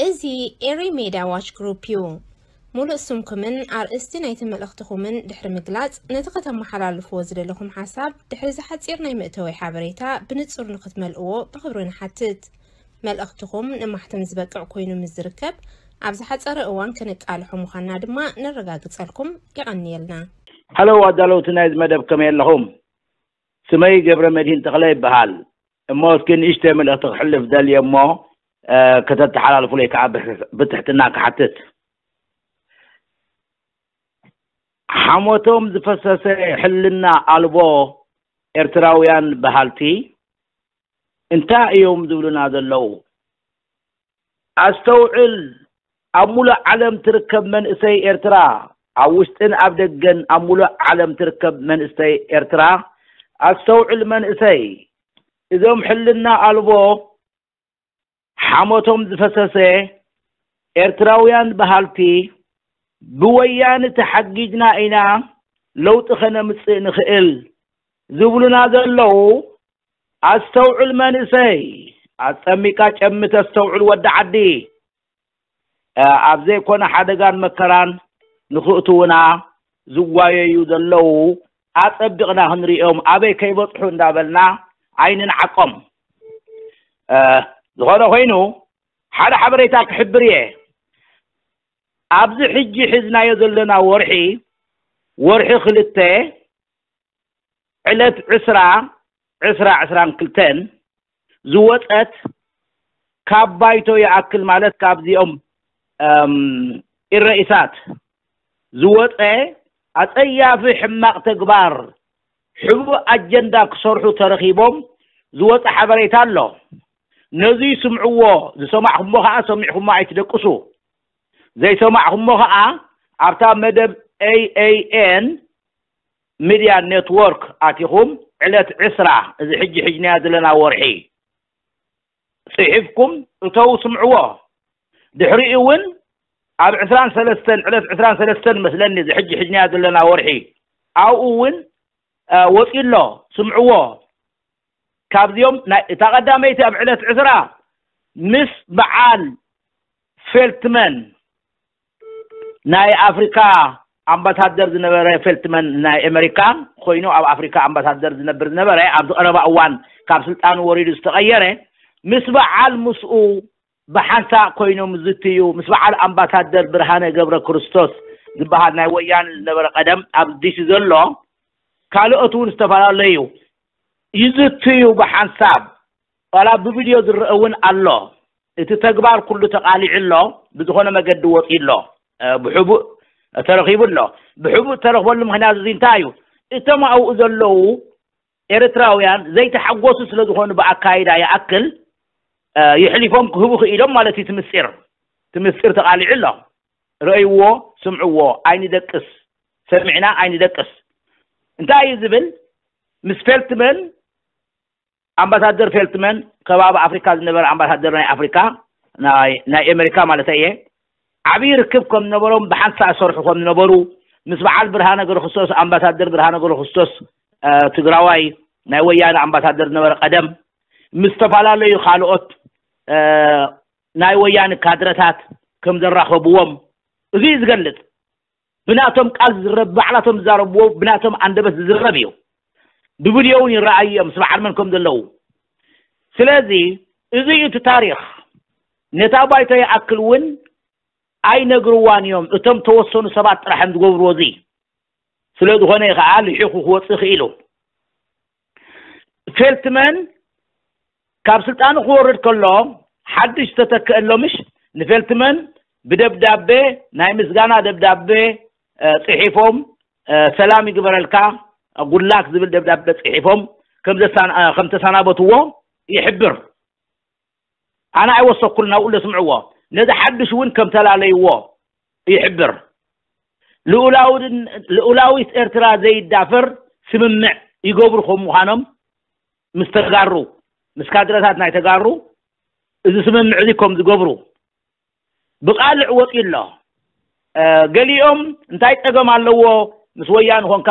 እዚ ኤሪ ሜድያ ዋች ግሩፕ እዩ። ሙሉእ ስምኩምን ኣርእስቲ ናይቲ መልእኽትኹምን ድሕሪ ምግላጽ፣ ነቲ ከተመሓላልፍዎ ዝደለኹም ሓሳብ ድሕሪ እዚ ሓጺር ናይ መእተዊ ሓበሬታ ብንጹር ንኽትመልእዎ ብኽብሪ ንሓትት። መልእኽትኹም ንማሕተም ዝበቅዕ ኮይኑ ምስ ዝርከብ፣ ኣብ ዝሓጸረ እዋን ከነቃልሖ ምዃንና ድማ ነረጋግጸልኩም። የቐንየልና። ሃሎ ኣዳለውቲ ናይዚ መደብ፣ ከመይ ኣለኹም? ስመይ ገብረ መድህን ተኽለ ይበሃል። እሞ እስኪ ንእሽተይ መልእኽቲ ክሕልፍ ደልየ እሞ፣ እ፣ ከተተሓላልፉለይ ከዓ ብትሕ-፣ ብትሕትና ክሓትት። ሓሞቶም ዝፈሰሰ ሕልና ኣልቦ ኤርትራውያን በሃልቲ እንታይ እዮም ዝብሉና ዘለዉ? ኣስተውዕል፣ ኣብ ሙሉእ ዓለም ትርከብ መንእሰይ ኤርትራ፣ ኣብ ውሽጥን ኣብ ደገን ኣብ ሙሉእ ዓለም ትርከብ መንእሰይ ኤርትራ፣ ኣስተውዕል መንእሰይ፣ እዞም ሕልና ኣልቦ ሓሞቶም ዝፈሰሰ ኤርትራውያን በሃልቲ፣ ብወያነ ተሓጊዝና ኢና ለውጢ ከነምጽእ ንኽእል ዝብሉና ዘለዉ፣ ኣስተውዕል መንእሰይ፣ ኣጸሚቃ ጨሚ ተስተውዕል ወዲ ዓዲ። እ፣ ኣብ ዘይኮነ ሓደጋን መከራን ንኽእትዉና ዝጓየዩ ዘለዉ ኣጸቢቕና ክንሪኦም፣ ኣበይ ከይበጽሑ እንዳበልና ኣይንንዓቆም። እ፣ ዝኾነ ኮይኑ ሓደ ሓበሬታ ክሕብር እየ። ኣብዚ ሕጂ ሒዝናዮ ዘለና ወርሒ፣ ወርሒ ክልተ፣ ዕለት ዕስራ፣ ዕስራ ዕስራን ክልተን ዝወጸት፣ ካብ ባይቶ ይኣክል ማለት ካብዚኦም፣ እም፣ ኢረኢሳት ዝወጸ ኣጸያፊ ሕማቕ ተግባር፣ ሕቡእ ኣጀንዳ ክሰርሑ ተረኺቦም ዝወጸ ሓበሬታ ኣሎ። ነዚ ስምዕዎ፣ ዝሰማዕኹሞ ኸኣ ሰሚዕኹሞ ኣይትደቅሱ። ዘይሰማዕኹሞ ኸኣ ኣብታ መደብ ኤ ኤ ኤን ሚድያ ኔትወርክ ኣቲኹም ዕለት ዕስራ፣ እዚ ሕጂ ሒዝናዮ ዘለና ወርሒ፣ ጽሒፍኩም እተው ስምዕዎ። ድሕሪኡ እውን ኣብ ዕስራን ሰለስተን፣ ዕለት ዕስራን ሰለስተን መስለኒ፣ እዚ ሕጂ ሒዝናዮ ዘለና ወርሒ፣ ኣብኡ እውን፣ እ፣ ወጺኡ ኣሎ፣ ስምዕዎ። ካብዚኦም ናይ፣ እታ ቀዳመይቲ ኣብ ዕለት ዕስራ ምስ በዓል ፌልትመን፣ ናይ ኣፍሪካ ኣምባሳደር ዝነበረ ፌልትመን ናይ ኣሜሪካ ኮይኑ ኣብ ኣፍሪካ ኣምባሳደር ዝነብር ዝነበረ፣ ኣብዚ ቀረባ እዋን ካብ ስልጣኑ ወሪዱ ዝተቐየረ፣ ምስ በዓል ምስኡ ብሓንሳእ ኮይኖም ዝዝትዩ፣ ምስ በዓል ኣምባሳደር ብርሃነ ገብረ ክርስቶስ ዝበሃል ናይ ወያነ ዝነበረ ቀደም ኣብ ዲሲ ዘሎ፣ ካልኦት እውን ዝተፈላለዩ ይዝትዩ ብሓንሳብ። ዋላ ብቪድዮ ዝረአ እውን ኣሎ። እቲ ተግባር ኩሉ ተቓሊዑ ኣሎ፣ ብዝኾነ መገዲ ወፂኡ ኣሎ፣ እ፣ ብሕቡእ ተረኺቡ ኣሎ። ብሕቡእ ተረኽበሉ ምኽንያት እዚ እንታይ እዩ? እቶም ኣብኡ ዘለዉ ኤርትራውያን ዘይተሓጎሱ ስለ ዝኾኑ ብኣካይዳ ይኣክል፣ እ፣ ይሕሊፎም ክህቡ ክኢሎም ማለት እዩ። እቲ ምስጢር፣ እቲ ምስጢር ተቓሊዑ ኣሎ። ረእይዎ፣ ስምዕዎ፣ ኣይንደቅስ፣ ሰሚዕና ኣይንደቅስ። እንታይ እዩ ዝብል? ምስ ፌልትመን፣ ኣምባሳደር ፌልትመን፣ ከባቢ ኣፍሪካ ዝነበረ ኣምባሳደር ናይ ኣፍሪካ፣ ናይ፣ ናይ ኣሜሪካ ማለት እየ፣ ዓብዪ ርክብ ከም ዝነበሮም፣ ብሓንሳእ ዝሰርሑ ከም ዝነበሩ፣ ምስ በዓል ብርሃነ ገብረክርስቶስ፣ ኣምባሳደር ብርሃነ ገብረክርስቶስ፣ እ፣ ትግራዋይ ናይ ወያነ ኣምባሳደር ዝነበረ ቀደም፣ ምስ ዝተፈላለዩ ካልኦት፣ እ፣ ናይ ወያነ ካድረታት ከም ዘራኸብዎም፣ እዚ እዩ ዝገልጽ። ብናቶም ቃል ዝዝረብ፣ ባዕላቶም ዝዛረብዎ፣ ብናቶም ኣንደበት ዝዝረብ እዩ። ብቪድዮ እውን ይረኣዩ እዮም፣ ምስ በዓል መን ከም ዘለዉ። ስለዚ፣ እዚ እዩ እቲ ታሪኽ። ነታ ባይቶ ይኣክል እውን ኣይነግርዋን እዮም። እቶም ተወሰኑ ሰባት ጥራሕ እዮም ዝገብርዎ እዚ። ስለ ዝኾነ እዩ ከዓ ልሒኹ ክወፅእ ክኢሉ። ፌልትመን ካብ ስልጣኑ ክወርድ ከሎ፣ ሓድሽ ዝተተክአሎ ምሽ፣ ንፌልትመን ብደብዳቤ፣ ናይ ምስጋና ደብዳቤ፣ እ፣ ጽሒፎም፣ እ፣ ሰላም ይግበረልካ፣ ጉድላክ ዝብል ደብዳቤ ጽሒፎም ከም ዘሳን-፣ እ፣ ከም ተሰናበትዎ ይሕብር። ኣነ ኣይወሰኩልን፣ ኣብኡ ለስምዕዎ። ነዚ ሓድሽ እውን ከም ተላለይዎ ይሕብር። ልኡላውድን-፣ ልኡላዊት ኤርትራ ዘይዳፈር ስምምዕ ይገብሩ ከም ምዃኖም ምስ ተጋሩ፣ ምስ ካድረታት ናይ ተጋሩ እዚ ስምምዕ እዚ ከም ዝገብሩ ብቃልዕ ወፂኡ ኣሎ። እ፣ ገሊኦም እንታይ ጸገም ኣለዎ ምስ ወያነ ኾንካ፣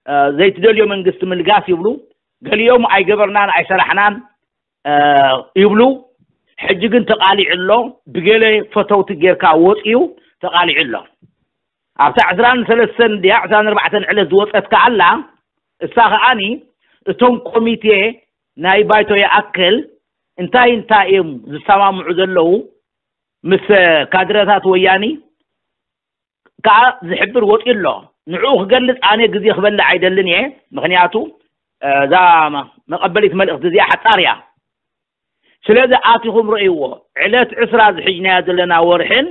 እ፣ ዘይትደልዮ መንግስቲ ምልጋስ ይብሉ። ገሊኦም ኣይገበርናን ኣይሰራሕናን፣ እ፣ ይብሉ። ሕጂ ግን ተቓሊዑ ኣሎ። ብገለ ፈተውቲ ጌርካ ወፂኡ ተቓሊዑ ኣሎ። ኣብታ ዕስራን ሰለስተን ድያ ዕስራን ኣርባዕተን ዕለት ዝወፀት ከኣላ እሳ ከኣኒ እቶም ኮሚቴ ናይ ባይቶ ይኣክል እንታይ እንታይ እዮም ዝሰማምዑ ዘለዉ ምስ ካድረታት ወያኒ ከዓ ዝሕብር ወፂኡ ኣሎ። ንዕኡ ክገልፅ ኣነ ግዜ ክበልዕ ኣይደልን እየ። ምክንያቱ እዛ መቐበሊት መልእክቲ እዚኣ ሓፃር እያ። ስለዚ ኣቲኹም ረእይዎ። ዕለት ዕስራ ዝሕጅናያ ዘለና ወርሕን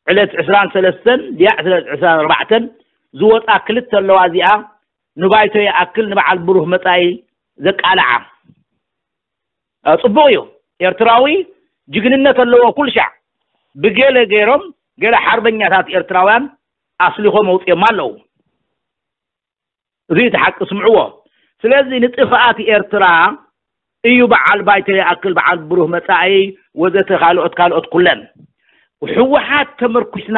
ዕለት ዕስራን ሰለስተን ድያ ዕስራን ኣርባዕተን ዝወፃ ክልተ ኣለዋ። እዚኣ ንባይቶ ይኣክል ንበዓል ብሩህ መፃኢ ዘቃልዓ። ጽቡቕ እዩ። ኤርትራዊ ጅግንነት ኣለዎ ኩልሻዕ። ብገለ ገይሮም ገለ ሓርበኛታት ኤርትራውያን ኣስሊኾም ኣውፅኦም ኣለዉ። እዚ እቲ ሓቂ ስምዕዎ። ስለዚ ንጥፍኣት ኤርትራ እዩ በዓል ባይቶ ይኣክል በዓል ብሩህ መጻኢ ወዘተ ካልኦት ካልኦት ኩለን። ህወሓት ተመርኩስና፣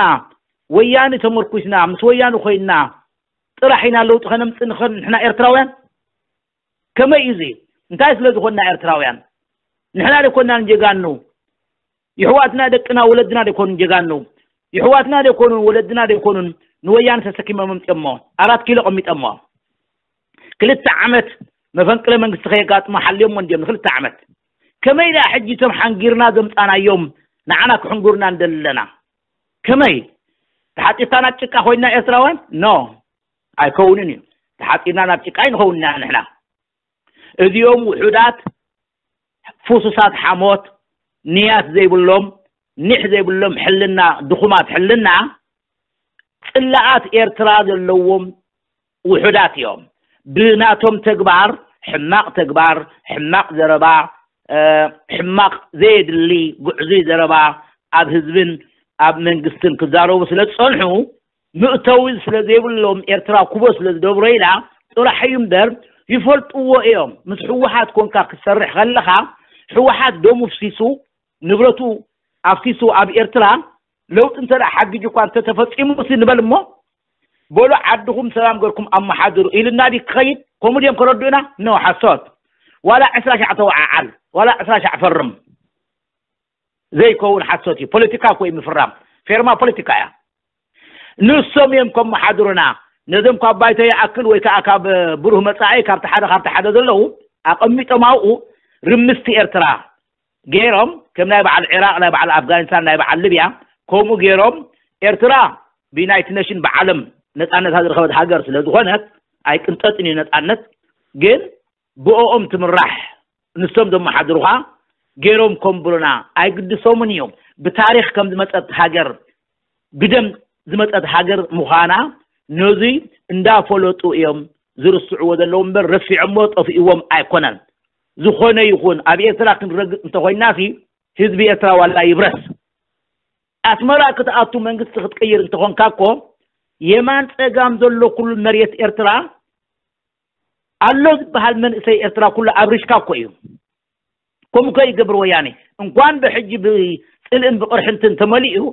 ወያኒ ተመርኩስና፣ ምስ ወያኒ ኮይንና ጥራሕ ኢና ለውጢ ከነምፅእ ንኽእል ንሕና ኤርትራውያን። ከመይ እዩ እዚ? እንታይ ስለ ዝኾንና ኤርትራውያን? ንሕና ደኮና ንጀጋኑ? ይሕዋትና ደቅና ወለድና ደኮኑ ጀጋኑ? ይሕዋትና ደኮኑን ወለድና ደኮኑን ንወያነ ተሰኪሞም ኣምፅኦሞ ኣራት ኪሎ ቀሚጠሞ ክልተ ዓመት መፈንቅለ መንግስቲ ከየጋጥሞ ሓልዮሞ እንዲዮም ንክልተ ዓመት። ከመይ ደኣ ሕጂ እቶም ሓንጊርና ዘምፃናዮም ንዓና ክሕንጉርና እንደለና? ከመይ ተሓጢርካ ናብ ጭቃ ኮይንና ኤርትራውያን? ኖ፣ ኣይከውንን እዩ። ተሓጢርና ናብ ጭቃ ኣይንኸውን ኢና ንሕና። እዚኦም ውሑዳት ፍሱሳት ሓሞት ንያት ዘይብሎም ኒሕ ዘይብሎም ሕልና ድኹማት ሕልና ጽላኣት ኤርትራ ዘለዎም ውሑዳት እዮም። ብናቶም ተግባር ሕማቕ ተግባር ሕማቕ ዘረባ ሕማቕ ዘየድሊ ጉዕዙይ ዘረባ ኣብ ህዝብን ኣብ መንግስትን ክዛረቡ ስለ ዝጸንሑ ምእተዊ ስለ ዘይብሎም ኤርትራ ኩቦ ስለ ዝደብሮ ኢላ ጥራሕ እዩ እምበር ይፈልጥዎ እዮም። ምስ ህወሓት ኮንካ ክትሰርሕ ከለኻ ህወሓት ደሙ ፍሲሱ ንብረቱ ኣፍሲሱ ኣብ ኤርትራ ለውጢ እንተ ሓጊጅ እኳ እንተተፈፂሙ ሲ ንበል እሞ በሉ ዓድኹም ሰላም ገርኩም ኣመሓድሩ ኢልና ዲ ክኸይድ ከምኡ ድዮም ከረድኡና? ኖ ሓሶት። ዋላ ዕስራ ሻዕ ተወዓዓል ዋላ ዕስራ ሻዕ ፈርም ዘይከውን ሓሶት እዩ። ፖለቲካ እኮ እዩ ምፍራም። ፌርማ ፖለቲካ እያ። ንሶም እዮም ከመሓድሩና። ነዞም ካብ ባይቶ ይኣክል ወይ ከዓ ካብ ብሩህ መፃኢ ካብቲ ሓደ ካብቲ ሓደ ዘለዉ ኣቐሚጦም ኣብኡ ርምስቲ ኤርትራ ገይሮም ከም ናይ በዓል ዒራቕ ናይ በዓል ኣፍጋኒስታን ናይ በዓል ልብያ ከምኡ ገይሮም ኤርትራ ብዩናይትድ ኔሽን ብዓለም ነፃነታ ዝረኸበት ሃገር ስለ ዝኾነት ኣይቅንጠጥን እዩ ነፃነት ግን ብኦኦም ትምራሕ ንሶም ዘመሓድሩኻ ገይሮም ከንብሩና ኣይግድሶምን እዮም። ብታሪኽ ከም ዝመፀት ሃገር ብደም ዝመፀት ሃገር ምዃና ነዙይ እንዳፈለጡ እዮም ዝርስዕዎ ዘለዉ እምበር ረሲዖሞ ጠፊእዎም ኣይኮነን። ዝኾነ ይኹን ኣብ ኤርትራ ክንረግፅ እንተኾይና ሲ ህዝቢ ኤርትራ ዋላ ይብረስ ኣስመራ ክትኣቱ መንግስቲ ክትቅይር እንተኾንካ እኮ የማን ፀጋም ዘሎ ኩሉ መሬት ኤርትራ ኣሎ ዝበሃል መንእሰይ ኤርትራ ኩሉ ኣብሪሽካ እኮ እዩ። ከምኡ ከ ይገብር ወያኔ እንኳን ብሕጂ ብፅልእን ብቕርሕንትን ተመሊኡ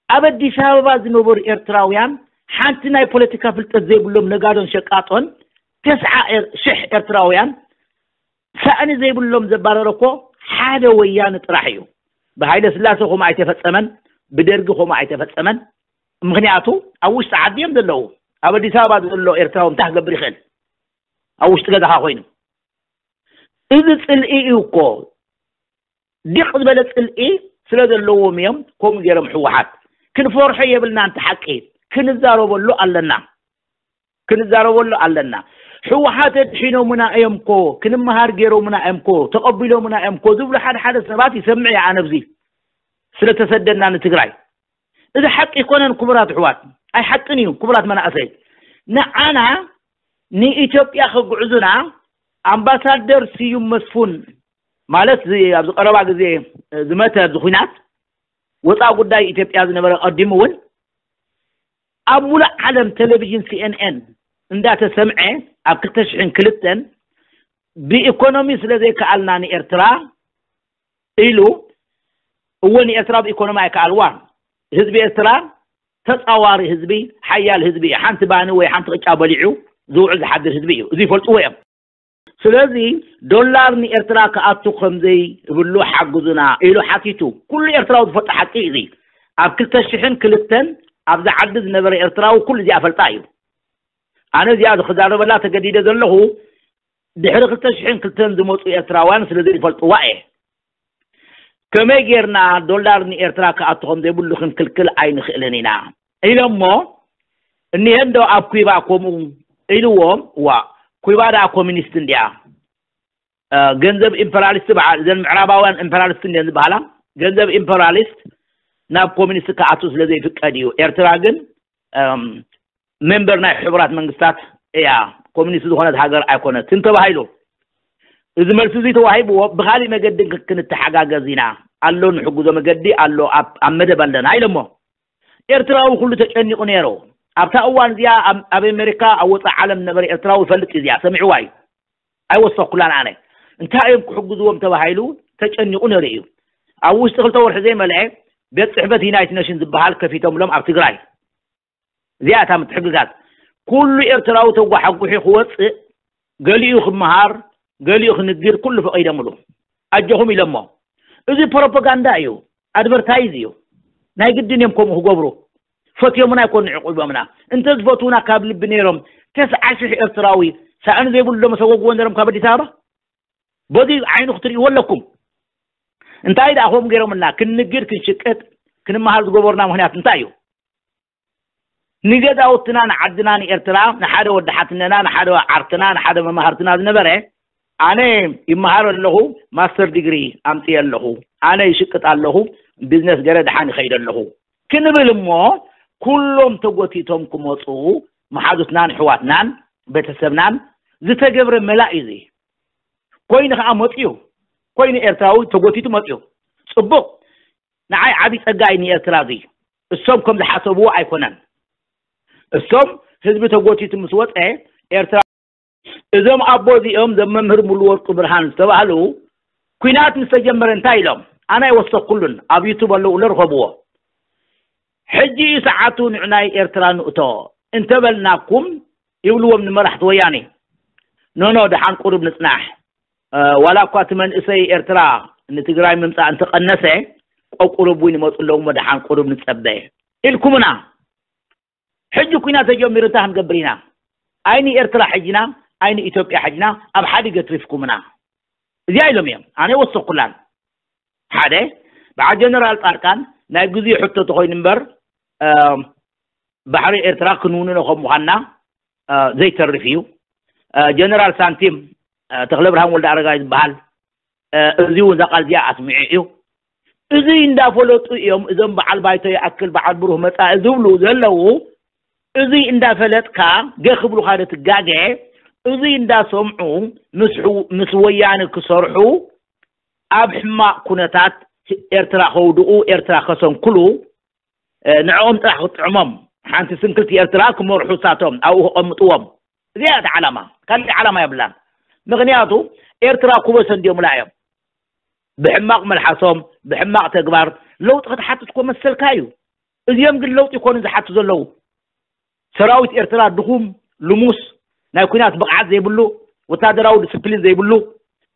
ኣብ ኣዲስ ኣበባ ዝነበሩ ኤርትራውያን ሓንቲ ናይ ፖለቲካ ፍልጠት ዘይብሎም ነጋዶን ሸቃጦን ተስዓ ሽሕ ኤርትራውያን ሳእኒ ዘይብሎም ዘባረረ እኮ ሓደ ወያነ ጥራሕ እዩ። ብሃይለ ስላሴ ከምኡ ኣይተፈጸመን፣ ብደርጊ ከምኡ ኣይተፈጸመን። ምክንያቱ ኣብ ውሽጢ ዓዲ እዮም ዘለዉ። ኣብ ኣዲስ ኣበባ ዘሎ ኤርትራዊ እንታይ ክገብር ይኽእል? ኣብ ውሽጢ ገዛኻ ኮይኑ። እዚ ጽልኢ እዩ እኮ። ዲቕ ዝበለ ጽልኢ ስለ ዘለዎም እዮም ከምኡ ገይሮም ህወሓት። ክንፈርሖ የብልና፣ እንተ ሓቂ ክንዛረበሉ ኣለና። ክንዛረበሉ ኣለና። ህወሓት ኣድሒኖምና እዮም እኮ፣ ክንመሃር ገይሮምና እዮም እኮ፣ ተቐቢሎምና እዮም እኮ ዝብሉ ሓደ ሓደ ሰባት ይሰምዕ እየ ኣነ ኣብዚ ስለተሰደድና ንትግራይ። እዚ ሓቂ ኣይኮነን ክቡራት ኣሕዋት፣ ኣይሓቅን እዩ ክቡራት መናእሰይ። ንዓና ንኢትዮጵያ ከጉዕዙና ኣምባሳደር ስዩም መስፉን ማለት እዚ ኣብዚ ቀረባ ግዜ ዝመተ ኣብዚ ኹናት ወፃኢ ጉዳይ ኢትዮጵያ ዝነበረ ቀዲሙ እውን ኣብ ሙሉእ ዓለም ቴሌቪዥን ሲኤንኤን እንዳተሰምዐ ኣብ ክልተ ሽሕን ክልተን ብኢኮኖሚ ስለ ዘይከኣልና ንኤርትራ ኢሉ እወ ንኤርትራ ብኢኮኖሚ ኣይከኣልዋን ህዝቢ ኤርትራ ተፃዋሪ ህዝቢ ሓያል ህዝቢ እዩ ሓንቲ ባኒ ወይ ሓንቲ ቅጫ በሊዑ ዝውዕል ዝሓድር ህዝቢ እዩ እዚ ይፈልጥዎ እዮም ስለዚ ዶላር ንኤርትራ ክኣቱ ከም ዘይብሉ ሓግዙና ኢሉ ሓቲቱ። ኩሉ ኤርትራዊ ዝፈልጦ ሓቂ እዩ እዚ። ኣብ ክልተ ሽሕን ክልተን ኣብዚ ዓዲ ዝነበረ ኤርትራዊ ኩሉ እዚኣ ፈልጣ እዩ። ኣነ እዚኣ ክዛረበላ ተገዲደ ዘለኹ ድሕሪ ክልተ ሽሕን ክልተን ዝመፁ ኤርትራውያን ስለ ዘይፈልጥዋ እየ። ከመይ ጌርና ዶላር ንኤርትራ ክኣቱ ከም ዘይብሉ ክንክልክል ኣይንኽእልን ኢና ኢሎሞ። እኒሀ እንዶ ኣብ ኩባ ከምኡ ኢልዎም። ዋ፣ ኩባ ደኣ ኮሚኒስት እንድያ። ገንዘብ ኢምፐራሊስት በዓል እዘን ምዕራባውያን ኢምፐራሊስት እንድየን ዝበሃላ። ገንዘብ ኢምፐራሊስት ናብ ኮሚኒስት ክኣቱ ስለ ዘይፍቀድ እዩ። ኤርትራ ግን ሜምበር ናይ ሕቡራት መንግስታት እያ፣ ኮሚኒስት ዝኾነት ሃገር ኣይኮነትን ተባሂሉ። እዚ መልሲ እዚ ተዋሂብዎ፣ ብኻሊእ መገዲ ክንተሓጋገዝ ኢና፣ ኣሎ ንሕግዞ መገዲ ኣሎ፣ ኣብ መደብ ኣለና ኢሎሞ። ኤርትራዊ ኩሉ ተጨኒቑ ነይሩ ኣብታ እዋን እዚኣ። ኣብ ኣሜሪካ ኣብ ወፃኢ ዓለም ዝነበረ ኤርትራዊ ይፈልጥ እዩ፣ እዚኣ ሰሚዕዋ እዩ። ኣይወሰኩላን ኣነ። እንታይ እዮም ክሕግዝዎም ተባሂሉ ተጨኒቑ ነይሩ እዩ። ኣብ ውሽጢ ክልተ ወርሒ ዘይመልአ ቤት ፅሕፈት ዩናይትድ ኔሽን ዝበሃል ከፊቶምሎም ኣብ ትግራይ። እዚኣ እታ ምትሕግጋዝ። ኩሉ ኤርትራዊ ተጓሓጉሒ ክወፅእ፣ ገሊኡ ክመሃር፣ ገሊኡ ክንግድ ኩሉ ፈቒዶምሉ። ኣጆኹም ኢሎሞ። እዚ ፕሮፓጋንዳ እዩ፣ ኣድቨርታይዝ እዩ። ናይ ግድን እዮም ከምኡ ክገብሩ። ፈትዮምና ኣይኮኑ ዕቑቦምና። እንተ ዝፈትውና ካብ ልቢ ነይሮም ተስዓ ሽሕ ኤርትራዊ ሳእኒ ዘይብሉ ዶ መሰጎግዎ ነይሮም ካብ ኣዲስ ኣበባ? በዚ ዓይኑ ክትርእይዎ ኣለኩም። እንታይ ደኣ ከምኡ ገይሮምና? ክንንግድ ክንሽቅጥ ክንመሃር ዝገበሩና ምኽንያት እንታይ እዩ? ንገዛውትና ንዓድና ንኤርትራ ንሓደ ወዲ ሓትነና ንሓደ ዓርክና ንሓደ መማህርትና ዝነበረ ኣነ ይመሃር ኣለኹ፣ ማስተር ዲግሪ ኣምፅየ ኣለኹ፣ ኣነ ይሽቅጥ ኣለኹ፣ ቢዝነስ ገረ ደሓን ይኸይድ ኣለኹ ክንብል እሞ ኩሎም ተጎቲቶም ክመፁ መሓዙትናን ኣሕዋትናን ቤተሰብናን ዝተገብረ መላእ እዩ። እዚ ኮይኑ ከዓ መፅዩ ኮይኑ ኤርትራዊ ተጎቲቱ መፅዩ። ፅቡቕ። ንዓይ ዓብዪ ፀጋ እዩ ንኤርትራ እዚ። እሶም ከም ዝሓሰብዎ ኣይኮነን። እሶም ህዝቢ ተጎቲቱ ምስ ወፀ ኤርትራ እዞም ኣቦ እዚኦም ዘም መምህር ሙሉ ወርቁ ብርሃን ዝተባህሉ ኩናት ምስ ተጀመረ እንታይ ኢሎም? ኣነ ኣይወሰኩሉን፣ ኣብ ዩቱብ ኣለዉ ለርኸብዎ። ሕጂ እዩ ሰዓቱ ንዕናይ ኤርትራ ንእቶ እንተበልናኩም ይብልዎም ንመራሕቲ ወያኔ። ኖኖ ደሓን ቁሩብ ንጽናሕ። ዋላ እኳ እቲ መንእሰይ ኤርትራ ንትግራይ ምምጻእ እንተቐነሰ ቆብ ቁሩብ እውን ይመፁ ኣለዉ እሞ ደሓን ቁሩብ ንጸበ ኢልኩምና። ሕጂ ኩናት ተጀሚሩ እንታይ ክንገብር ኢና? ኣይ ንኤርትራ ሕጅና ኣይ ንኢትዮጵያ ሕጅና ኣብ ሓዲገ ትሪፍኩምና። እዚኣ ኢሎም እዮም። ኣነ ወሰኩላን ሓደ በዓል ጀነራል ፃድቃን ናይ ግዜ ሕቶ ተኮይኑ እምበር ባሕሪ ኤርትራ ክንውንኖ ከም ምዃንና ዘይተርፍ እዩ። ጀነራል ሳንቲም ተክለ ብርሃን ወልደ ኣረጋይ ዝበሃል እዚ እውን እዛ ቃል እዚኣ ኣስሚዑ እዩ። እዚ እንዳፈለጡ እዮም እዞም በዓል ባይቶ ይኣክል በዓል ብሩህ መፃኢ ዝብሉ ዘለዉ። እዚ እንዳፈለጥካ ገ ክብሉካ ዶ ትጋገ? እዚ እንዳሰምዑ ምስ ወያነ ክሰርሑ ኣብ ሕማቕ ኩነታት ኤርትራ ከውድቑ ኤርትራ ከሰንክሉ ንዕኦም ጥራሕ ክጥዕሞም ሓንቲ ስንክልቲ ኤርትራ ክመርሑ እሳቶም ኣብኡ ከቐምጥዎም እዚኣ እቲ ዓላማ። ካልእ ዓላማ የብላን። ምክንያቱ ኤርትራ ኩበሰ እንዲዮምላ እዮም ብሕማቕ መልሓሶም ብሕማቕ ተግባር ለውጢ ክትሓትት ኮ መሰልካ እዩ። እዚኦም ግን ለውጢ ይኮኑ ዝሓቱ ዘለዉ። ሰራዊት ኤርትራ ድኹም ልሙስ ናይ ኩናት ብቕዓት ዘይብሉ ወታደራዊ ዲስፕሊን ዘይብሉ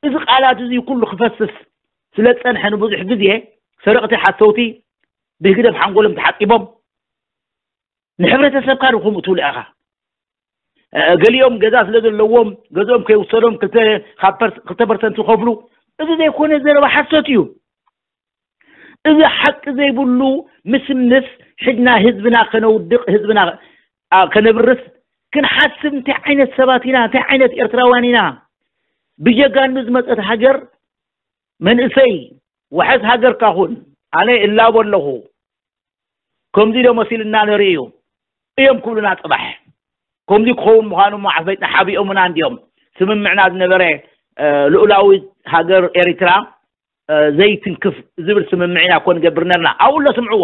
እዚ ቃላት እዚ ኩሉ ክፈስስ ስለ ዝጸንሐ ንብዙሕ ግዜ ሰረቕቲ ሓሰውቲ ብህግደፍ ሓንጎሎም ተሓጺቦም ንሕብረተሰብካ ድኹም እትብሉ ኢኻ። ገሊኦም ገዛ ስለ ዘለዎም ገዝኦም ከይውሰዶም ክልተ ፐርሰንት ይኸፍሉ። እዚ ዘይኮነ ዘረባ ሓሶት እዩ። እዚ ሓቂ ዘይብሉ ምስምስ ሕድና ህዝብና ከነውድቕ ህዝብና ከነብርስ ክንሓስብ እንታይ ዓይነት ሰባት ኢና እንታይ ዓይነት ኤርትራውያን ኢና? ብጀጋኑ ዝመፀት ሃገር መንእሰይ ውሕስ ሃገርካ ኩን ኣነ እላቦ ኣለኹ። ከምዚ ዶ መሲልና ነርኢ እዩ እዮም ክብሉና ፅባሕ ከምዚ ክኸውን ምዃኑ እሞ ዓፈይትና ሓቢኦምና እንዲዮም። ስምምዕና ዝነበረ ልኡላዊት ሃገር ኤሪትራ ዘይትንክፍ ዝብል ስምምዕ ኢና እኮ ንገብር ነርና። ኣብኡ ኣሎ ስምዕዎ።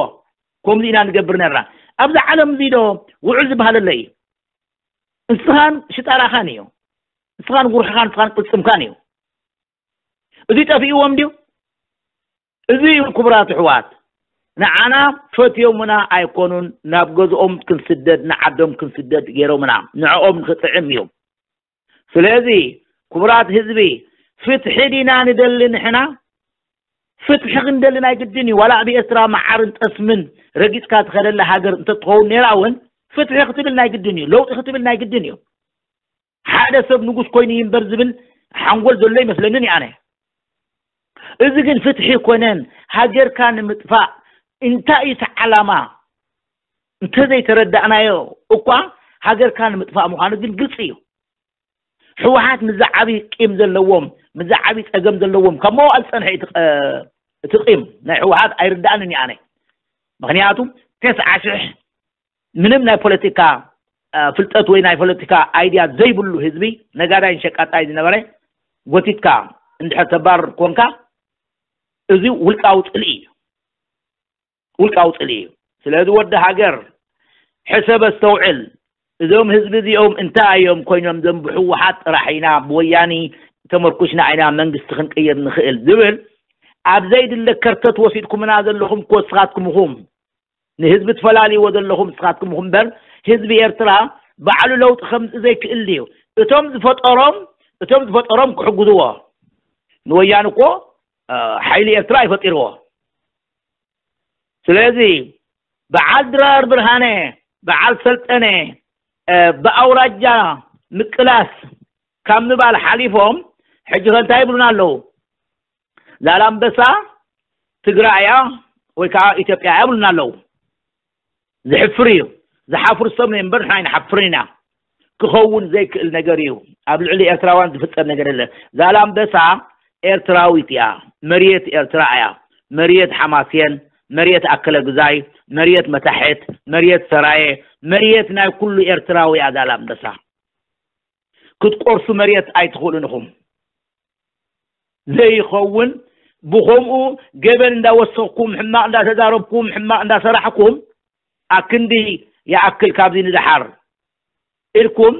ከምዚ ኢና ንገብር ነርና። ኣብዚ ዓለም እዚ ዶ ውዕል ዝበሃል ኣሎ እዩ? ንስኻን ሽጣራኻን እዩ። ንስኻን ጉርሕኻን ንስኻን ቅልፅምካን እዩ። እዚ ጠፊእዎም ድዩ? እዚ እዩ ክቡራት ኣሕዋት። ንዓና ፈትዮምና ኣይኮኑን ናብ ገዝኦም ክንስደድ ንዓዶም ክንስደድ ገይሮምና ንዕኦም ንክጥዕም እዩ። ስለዚ ክቡራት ህዝቢ፣ ፍትሒ ዲና ንደሊ ንሕና? ፍትሒ ክንደሊ ናይ ግድን እዩ። ዋላ ኣብ ኤርትራ መዓርን ጠስምን ረጊጽካ ትኸደላ ሃገር እንተትኸውን ነይራ እውን፣ ፍትሒ ክትብል ናይ ግድን እዩ። ለውጢ ክትብል ናይ ግድን እዩ። ሓደ ሰብ ንጉስ ኮይኑ ይንበር ዝብል ሓንጎል ዘሎ ይመስለንን ኣነ። እዚ ግን ፍትሒ ኮነን፣ ሃገርካ ንምጥፋእ እንታይ እዩ እቲ ዓላማ? እንተዘይተረዳእናዮ እኳ፣ ሃገርካ ንምጥፋእ ምዃኑ ግን ግልፂ እዩ። ህወሓት ምዚ ዓብዪ ቂም ዘለዎም፣ ምዚ ዓብዪ ፀገም ዘለዎም ካብ መዋእል ዝፀንሐ እዩ እቲ ቀ-፣ እቲ ቂም ናይ ህወሓት ኣይርዳእንን እዩ ኣነ። ምኽንያቱ፣ ተስዓ ሽሕ ምንም ናይ ፖለቲካ፣ አ፣ ፍልጠት ወይ ናይ ፖለቲካ ኣይድያ ዘይብሉ ህዝቢ፣ ነጋዳይን ሸቃጣይ ዝነበረ፣ ጎቲትካ እንድሕር ተባርር ኮንካ፣ እዚ ውልቃዊ ጽልኢ እዩ። ውልቃዊ ጽልኢ እዩ። ስለዚ ወዲ ሃገር፣ ሕሰብ፣ ኣስተውዕል። እዞም ህዝቢ እዚኦም እንታይ እዮም ኮይኖም? ዘም ብህወሓት ጥራሕ ኢና፣ ብወያኒ ተመርኩሽና ኢና መንግስቲ ክንቅይር ንኽእል ዝብል፣ ኣብ ዘይድለ ከርተት ወሲድኩምና ዘለኹም እኮ ንስኻትኩም ኢኹም። ንህዝቢ ትፈላልይዎ ዘለኹም ንስኻትኩም ኢኹም እምበር፣ ህዝቢ ኤርትራ ባዕሉ ለውጢ ከምጽእ ዘይክእል ድዩ? እቶም ዝፈጠሮም፣ እቶም ዝፈጠሮም ክሕግዝዎ። ንወያኒ እኮ፣ እ፣ ሓይሊ ኤርትራ ይፈጢርዎ። ስለዚ በዓል ድራር ብርሃነ፣ በዓል ሰልጠነ፣ እ፣ ብኣውራጃ ምቅላስ ካብ ምባል ሓሊፎም፣ ሕጂ ከ እንታይ ይብሉና ኣለዉ? ዛላምበሳ ትግራይ እያ ወይ ከዓ ኢትዮጵያ እያ ይብሉና ኣለዉ። ዝሕፍር እዩ። ዝሓፍሩ ሰብ ነው እምበር ንሕና ኣይንሓፍርን ኢና። ክኸውን ዘይክእል ነገር እዩ። ኣብ ልዕሊ ኤርትራውያን ዝፍጸም ነገር የለ። ዛላምበሳ ኤርትራዊት እያ። መሬት ኤርትራ እያ። መሬት ሓማሴን፣ መሬት ኣከለ ግዛይ፣ መሬት መታሕት፣ መሬት ሰራየ፣ መሬት ናይ ኩሉ ኤርትራዊ እያ ዛላምበሳ። ክትቆርሱ መሬት ኣይትኽእሉን ኢኹም። ዘይኸውን ብኸምኡ ገበን እንዳወሰኽኩም፣ ሕማቕ እንዳተዛረብኩም፣ ሕማቕ እንዳሰራሕኩም፣ ኣክንዲ ይኣክል ካብዚ ንደሓር ኢልኩም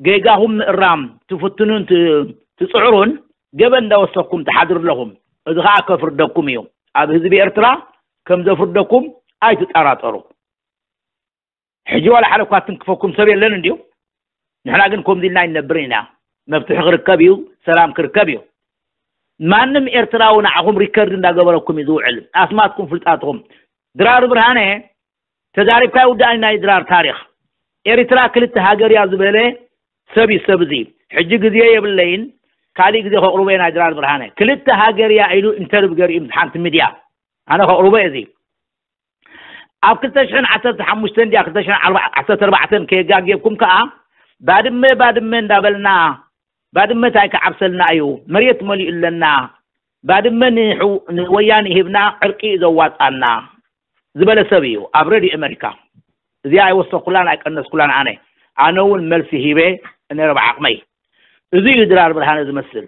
ጌጋኹም ምእራም ትፍትኑን ት-፣ ትጽዕሩን፣ ገበን እንዳወሰኽኩም ትሓድሩ ኣለኹም። እዚ ኸኣ ከፍርደኩም እዩ። ኣብ ህዝቢ ኤርትራ ከም ዘፍርደኩም ኣይትጠራጠሩ። ሕጂ ዋላ ሓደ እኳ ትንክፈኩም ሰብ የለን እንድዩ። ንሕና ግን ከምዚ ኢልና ኣይንነብርን ኢና። መፍትሒ ክርከብ እዩ፣ ሰላም ክርከብ እዩ። ማንም ኤርትራዊ ንዓኹም ሪከርድ እንዳገበረኩም እዩ ዝውዕል። ኣስማትኩም ፍልጣትኹም። ድራር ብርሃነ ተዛሪብካ ይውዳእኒ ናይ ድራር ታሪኽ። ኤርትራ ክልተ ሃገር እያ ዝበለ ሰብ እዩ ሰብ እዚ። ሕጂ ግዜ የብለይን፣ ካሊእ ግዜ ከቕርቦ እየ ናይ ድራር ብርሃነ። ክልተ ሃገር እያ ኢሉ ኢንተርቪው ገይሩ እዩ ምስ ሓንቲ ሚድያ። ኣነ ከቕርቦ እየ እዚ። ኣብ ክልተ ሽሕን ዓሰርተ ሓሙሽተን ድያ ክልተ ሽሕን ዓሰርተ ኣርባዕተን ከየጋግየኩም ከኣ፣ ባድመ፣ ባድመ እንዳበልና፣ ባድመ እንታይ ክዓብሰልና እዩ? መሬት መሊኡ ኣለና። ባድመ ንሕው-፣ ንወያኔ ሂብና ዕርቂ እዩ ዘዋጻና ዝበለ ሰብ እዩ ኣብ ሬድዮ ኣሜሪካ። እዚኣ ኣይወሰኩላን ኣይቀነስኩላን ኣነ። ኣነ እውን መልሲ ሂበ ነረ ብዓቕመይ። እዚ እዩ ድራር ብርሃነ ዝመስል።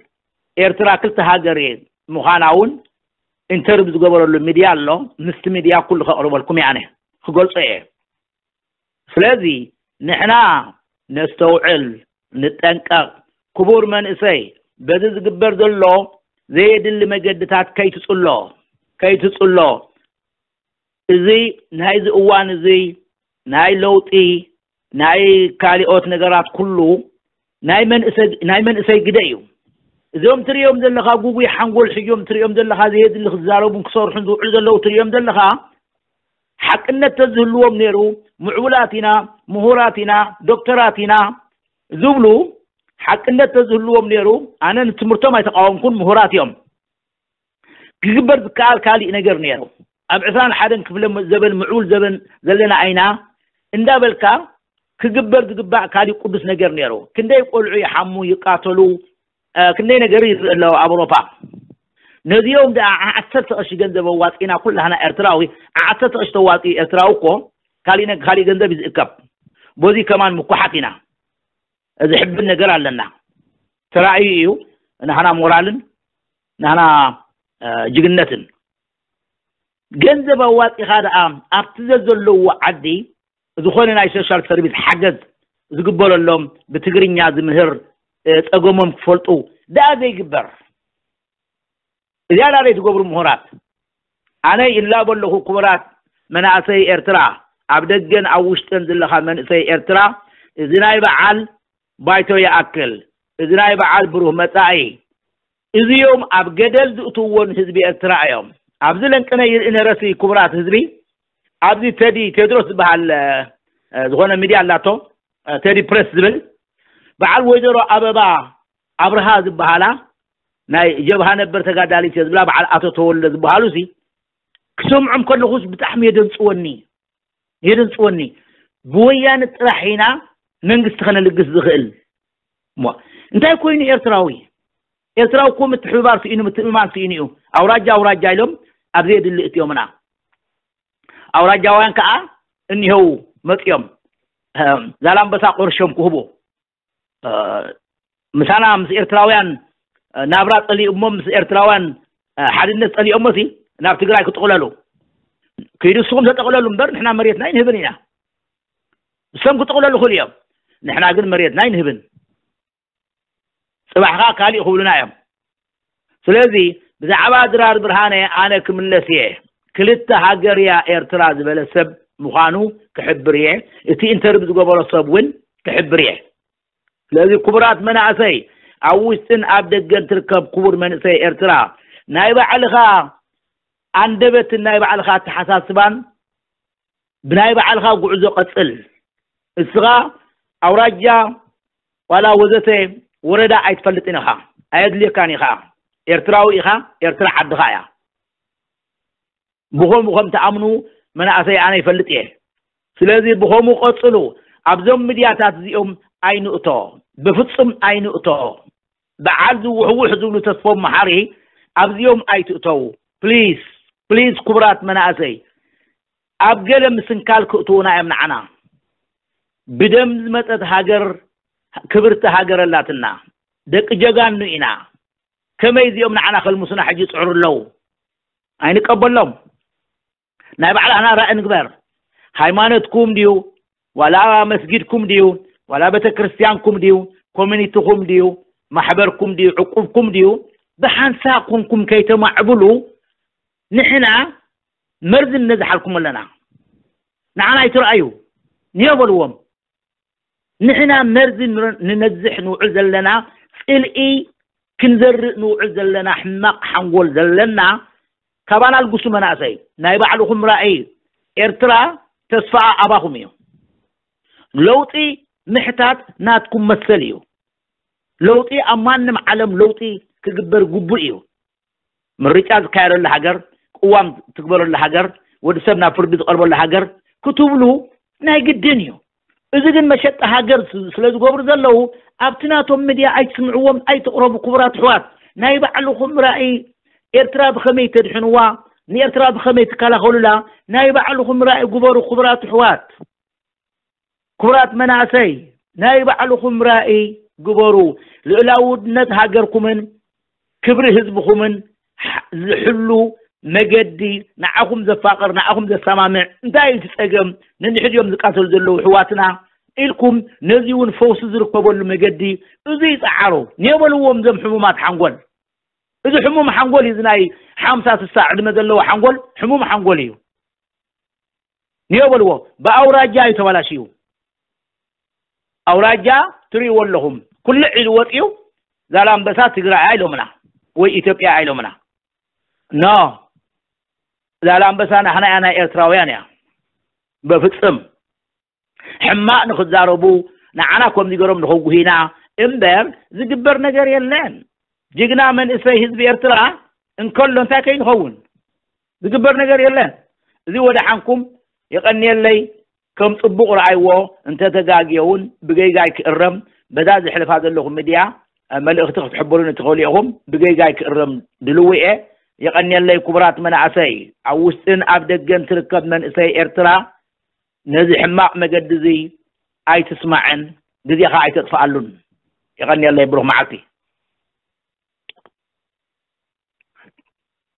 ኤርትራ ክልተ ሃገር እየ ምዃና እውን ኢንተርቪው ዝገበረሉ ሚድያ ኣሎ። ምስቲ ሚድያ ኩሉ ከቕርበልኩም እየ ኣነ። ክገልጾ እየ። ስለዚ ንሕና ነስተውዕል፣ ንጠንቀቕ። ክቡር መንእሰይ፣ በዚ ዝግበር ዘሎ ዘየድሊ መገድታት ከይትጽሎ፣ ከይትጽሎ። እዚ ናይዚ እዋን እዚ ናይ ለውጢ፣ ናይ ካሊኦት ነገራት ኩሉ ናይ መንእሰይ፣ ናይ መንእሰይ ግደ እዩ። እዞም ትርእዮም ዘለኻ ጉጉይ ሓንጎል ሒዞም ትርእዮም ዘለኻ ዘየድሊ ክዛረቡን ክሰርሑን ዝውዕሉ ዘለዉ ትርእዮም ዘለኻ፣ ሓቅነት ተዝህልዎም ነይሩ፣ ምዕቡላት ኢና፣ ምሁራት ኢና፣ ዶክተራት ኢና ዝብሉ ሓቅነት ተዝህልዎም ነይሩ፣ ኣነ ንትምህርቶም ኣይተቃወምኩን፣ ምሁራት እዮም። ክግበር ዝከኣል ካሊእ ነገር ነይሩ። ኣብ ዕስራን ሓደን ክፍለ ዘበን፣ ምዕቡል ዘበን ዘለና ኣይና እንዳበልካ ክግበር ዝግባእ ካሊእ ቅዱስ ነገር ነይሩ። ክንደይ ቆልዑ ይሓሙ፣ ይቃተሉ፣ እ፣ ክንደይ ነገር ይርኢ ኣለዉ ኣብ ኣውሮፓ። ነዚኦም ደኣ ዓሰርተ ቅርሺ ገንዘብ ኣዋጺና ኩላህና ኤርትራዊ፣ ዓሰርተ ቅርሺ ተዋጺኡ ኤርትራዊ እኮ ካሊእ ነግ-፣ ካሊእ ገንዘብ እዩ ዝእከብ። በዚ ከማን ምኩሓት ኢና። እዚ ሕብን ነገር ኣለና። ተራእዩ እዩ ናህና ሞራልን ናህና፣ እ፣ ጅግነትን። ገንዘብ ኣዋጺኻ ደኣ ኣብቲ ዘዘለዎ ዓዲ ዝኾነ ናይ ሶሻል ሰርቪስ ሓገዝ ዝግበረሎም፣ ብትግርኛ ዝምህር፣ እ፣ ጸገሞም ክፈልጡ ደኣ ዘይግበር። እዚኣ ደኣ ዘይትገብሩ ምሁራት። ኣነ ይላቦ ኣለኹ ክቡራት መናእሰይ ኤርትራ፣ ኣብ ደገን ኣብ ውሽጥን ዘለኻ መንእሰይ ኤርትራ፣ እዚ ናይ በዓል ባይቶ ይኣክል። እዚ ናይ በዓል ብሩህ መጻኢ፣ እዚኦም ኣብ ገደል ዝእትውዎ ንህዝቢ ኤርትራ እዮም። ኣብዚ ለንቅነ ይርኢ ነረሲ ክቡራት ህዝቢ፣ ኣብዚ ቴዲ ቴድሮስ ዝበሃል፣ እ፣ ዝኾነ ሚድያ ኣላቶ፣ እ፣ ቴዲ ፕሬስ ዝብል፣ በዓል ወይዘሮ ኣበባ ኣብርሃ ዝበሃላ፣ ናይ ጀብሃ ነበር ተጋዳሊት እየ ዝብላ፣ በዓል ኣቶ ተወልደ ዝበሃሉ ሲ፣ ክሰምዖም ከለኹስ ብጣዕሚ የደንጽወኒ፣ የደንጽወኒ። ብወያነ ጥራሕ ኢና መንግስቲ ከነልግስ ዝኽእል። እሞ እንታይ ኮይኑ ኤርትራዊ? ኤርትራዊ እኮ ምትሕብባር ስኢኑ፣ ምትእምማን ስኢኑ እዩ። ኣውራጃ ኣውራጃ ኢሎም ኣብ ዘየድሊ እትዮምና። ኣውራጃውያን ከኣ እኒሆው መጽዮም፣ እ፣ ዛላምበሳ ቆርሾም ክህቡ፣ እ፣ ምሳና ምስ ኤርትራውያን፣ እ፣ ናብራ ጸሊኦሞ፣ ምስ ኤርትራውያን፣ እ፣ ሓድነት ጸሊኦሞ ሲ ናብ ትግራይ ክጥቕለሉ። ክይዱ ንስኹም ተጠቕለሉ እምበር ንሕና መሬትና ኣይንህብን ኢና። ንሶም ክጥቕለሉ ይኽእሉ እዮም። ንሕና ግን መሬትና ኣይንህብን። ጽባሕኻ ካሊእ ክብሉና እዮም። ስለዚ ብዛዕባ ድራር ብርሃነ ኣነ ክምለስ እየ። ክልተ ሃገር እያ ኤርትራ ዝበለ ሰብ ምዃኑ ክሕብር እየ። እቲ ኢንተርቪው ዝገበሮ ሰብ እውን ክሕብር እየ። ስለዚ ክቡራት መናእሰይ፣ ኣብ ውሽጥን ኣብ ደገን ትርከብ ክቡር መንእሰይ ኤርትራ፣ ናይ ባዕልኻ ኣንደበትን ናይ ባዕልኻ ኣተሓሳስባን ብናይ ባዕልኻ ጉዕዞ ቀጽል። እስኻ ኣውራጃ ዋላ ወዘተ ወረዳ ኣይትፈልጥን ኢኻ፣ ኣየድልየካን ኢኻ። ኤርትራዊ ኢኻ፣ ኤርትራ ዓድኻ እያ። ብኸምኡ ከም ትኣምኑ መናእሰይ ኣነ ይፈልጥ እየ። ስለዚ ብኸምኡ ቀጽሉ። ኣብዞም ሚድያታት እዚኦም ኣይንእቶ፣ ብፍጹም ኣይንእቶ። በዓል ዝውሕውሕ ዝብሉ ተስፎም መሓሪ ኣብዚኦም ኣይትእተው። ፕሊስ፣ ፕሊስ ክቡራት መናእሰይ፣ ኣብ ገለ ምስንካል ክእትዉና እዮም ንዓና። ብደም ዝመጸት ሃገር፣ ክብርቲ ሃገር ኣላትና። ደቂ ጀጋኑ ኢና። ከመይ እዚኦም ንዓና ከልምሱና ሕጂ ይጽዕሩ ኣለዉ? ኣይንቀበሎም። ናይ ባዕላትና ራእይ ንግበር። ሃይማኖትኩም ድዩ? ዋላ መስጊድኩም ድዩ? ዋላ ቤተክርስትያንኩም ድዩ? ኮሚኒቲኹም ድዩ? ማሕበርኩም ድዩ? ዕቁብኩም ድዩ? ብሓንሳብ ኮንኩም ከይተማዕብሉ ንሕና መርዚ ንነዝሓልኩም ኣለና። ንዓና ኣይትረኣዩ። ንዮ በልዎም። ንሕና መርዚ ንረ-፣ ንነዝሕ ንውዕል ዘለና፣ ጽልኢ ክንዘርእ ንውዕል ዘለና፣ ሕማቕ ሓንጎል ዘለና፣ ካባና ኣልግሱ መናእሰይ። ናይ ባዕልኹም ራእይ። ኤርትራ ተስፋኣ ኣባኹም እዩ። ለውጢ ምሕታት ናትኩም መሰል እዩ። ለውጢ ኣብ ማንም ዓለም ለውጢ ክግበር ግቡእ እዩ። ምርጫ ዝካየደሉ ሃገር፣ ቅዋም ትግበረሉ ሃገር፣ ወዲ ሰብ ናብ ፍርዲ ዝቐርበሉ ሃገር ክትብሉ ናይ ግድን እዩ። እዚ ግን መሸጢ ሃገር ስ-፣ ስለ ዝገብሩ ዘለዉ ኣብቲ ናቶም ሚድያ ኣይትስምዕዎም፣ ኣይትቕረቡ ክቡራት ኣሕዋት። ናይ ባዕልኹም ራእይ ኤርትራ ብኸመይ ተድሕንዋ፣ ንኤርትራ ብኸመይ ትከላኸሉላ፣ ናይ ባዕልኹም ራእይ ግበሩ ክቡራት ኣሕዋት። ክቡራት መናእሰይ፣ ናይ ባዕልኹም ራእይ ግበሩ። ልኡላውነት ሃገርኩምን ክብሪ ህዝብኹምን ሕ-፣ ዝሕሉ መገዲ፣ ንዓኹም ዘፋቕር፣ ንዓኹም ዘሰማምዕ፣ እንታይ እዩ እቲ ጸገም? ነንሕድዮም ዝቃተሉ ዘለዉ ኣሕዋትና ኢልኩም፣ ነዚ እውን ፈውሲ ዝርከበሉ መገዲ፣ እዚ ይጸዓሩ። ንየበልዎም እዞም ሕሙማት ሓንጎል። እዚ ሕሙም ሓንጎል እዩ፣ እዚ ናይ ሓምሳ ስሳ ዕድመ ዘለዎ ሓንጎል፣ ሕሙም ሓንጎል እዩ። ንዮ በልዎ፣ ብኣውራጃ እዩ ተባላሽዩ። ኣውራጃ ትርእይዎ ኣለኹም። ኩልዕ ኢሉ ወፂኡ፣ ዛላምበሳ ትግራይ ኢሎምና፣ ወይ ኢትዮጵያ ኢሎምና። ኖ፣ ዛላምበሳ ናሕና እያ፣ ናይ ኤርትራውያን እያ። በፍጽም ሕማቕ ንኽዛረቡ፣ ንዓና ከምዚ ገሮም ንኸጉሂና እምበር ዝግበር ነገር የለን። ጅግና መንእሰይ ህዝቢ ኤርትራ እንከሎ እንታይ ከይንኸውን? ዝግበር ነገር የለን። እዚ ወደ ሓንኩም የቐንየለይ። ከም ጽቡቕ ረኣይዎ፣ እንተተጋግየ እውን ብገይጋይ ክእረም፣ በዛ ዝሕልፋ ዘለኹም ሚድያ፣ እ፣ መልእኽቲ ክትሕብሩኒ ትኽእሉ ኢኹም። ብገይጋይ ክእረም ድልዊ እየ። የቐንየለይ ክቡራት መናእሰይ፣ ኣብ ውሽጥን ኣብ ደገን ትርከብ መንእሰይ ኤርትራ፣ ነዚ ሕማቕ መገዲ እዚ ኣይትስማዕን፣ ግዜኻ ኣይተጥፍኣሉን። የቐንየለይ፣ ብሩኽ መዓልቲ።